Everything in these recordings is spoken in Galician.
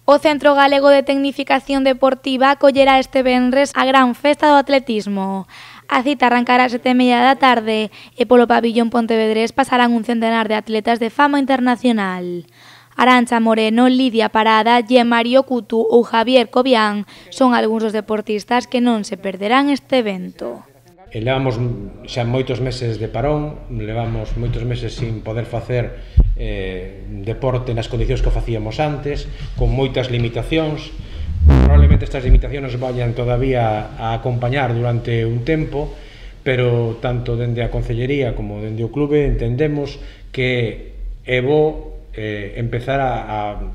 O Centro Galego de Tecnificación Deportiva acollerá este venres a gran festa do atletismo. A cita arrancará ás 7:30 da tarde e polo pabillón Pontevedrés pasarán un centenar de atletas de fama internacional. Arantxa Moreno, Lidia Parada, Mario Cutu ou Javier Cobián son algúns dos deportistas que non se perderán este evento. Levamos xa moitos meses de parón, levamos moitos meses sin poder facer deporte nas condicións que facíamos antes, con moitas limitacións. Probablemente estas limitacións vayan todavía a acompañar durante un tempo, pero tanto dende a Concellería como dende o clube entendemos que é bo empezar a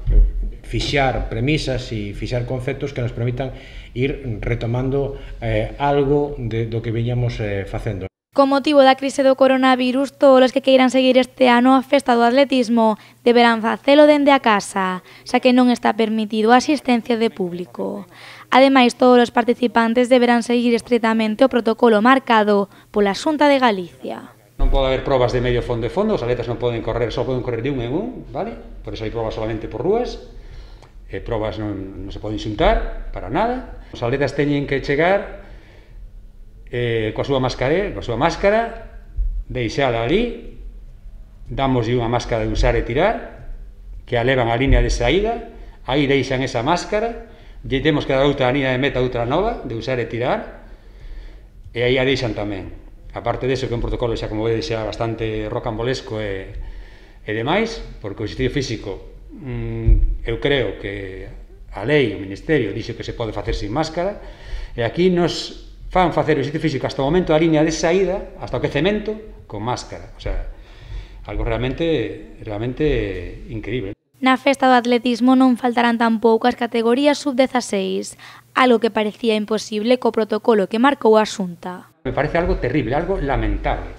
fixar premisas e fixar conceptos que nos permitan ir retomando algo do que viñamos facendo. Con motivo da crise do coronavirus, todos os que queiran seguir este ano a festa do atletismo deberán facelo dende a casa, xa que non está permitido a asistencia de público. Ademais, todos os participantes deberán seguir estritamente o protocolo marcado pola Xunta de Galicia. Non pode haber probas de medio fondo e fondo, os atletas non poden correr, só poden correr de un en un, vale? Por eso hai probas solamente por rúas, probas non se poden xuntar para nada. Os atletas teñen que chegar coa súa máscara, deixala ali, damoslle unha máscara de usar e tirar, que a levan a línea de saída, aí deixan esa máscara, lle temos que dar outra línea de meta, outra nova, de usar e tirar, e aí a deixan tamén. Aparte deso, que é un protocolo xa, como vedes, xa bastante rocambolesco e demais, porque o exercicio físico, eu creo que a lei, o Ministerio, dixo que se pode facer sin máscara, e aquí nos fan facer o exercicio físico hasta o momento da línea de saída, hasta o quecemento, con máscara. O sea, algo realmente increíble. Na festa do atletismo non faltarán tampouco as categorías sub-16, algo que parecía imposible co protocolo que marcou a Xunta. Me parece algo terrible, algo lamentable,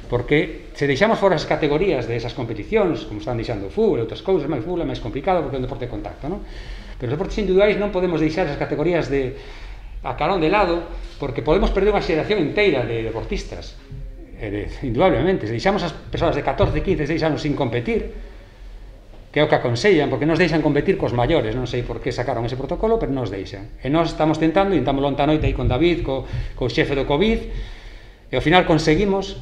porque se deixamos fora as categorías de esas competicións, como están deixando o fútbol e outras cousas, o fútbol é máis complicado porque é un deporte de contacto, non? Pero os deportes individuais non podemos deixar esas categorías a carón de lado, porque podemos perder unha xeración inteira de deportistas, indudablemente. Se deixamos as persoas de 14, 15, 16 anos sin competir, que é o que aconsellan, porque nos deixan competir cos maiores, non sei por que sacaron ese protocolo, pero nos deixan. E nós estamos tentamos lonta noite aí con David, co xefe do COVID, e ao final conseguimos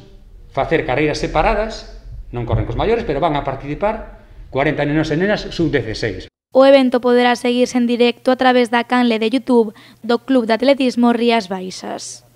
facer carreiras separadas, non corren cos maiores, pero van a participar 40 nenos e nenas sub-16. O evento poderá seguirse en directo a través da canle de YouTube do Club de Atletismo Rías Baixas.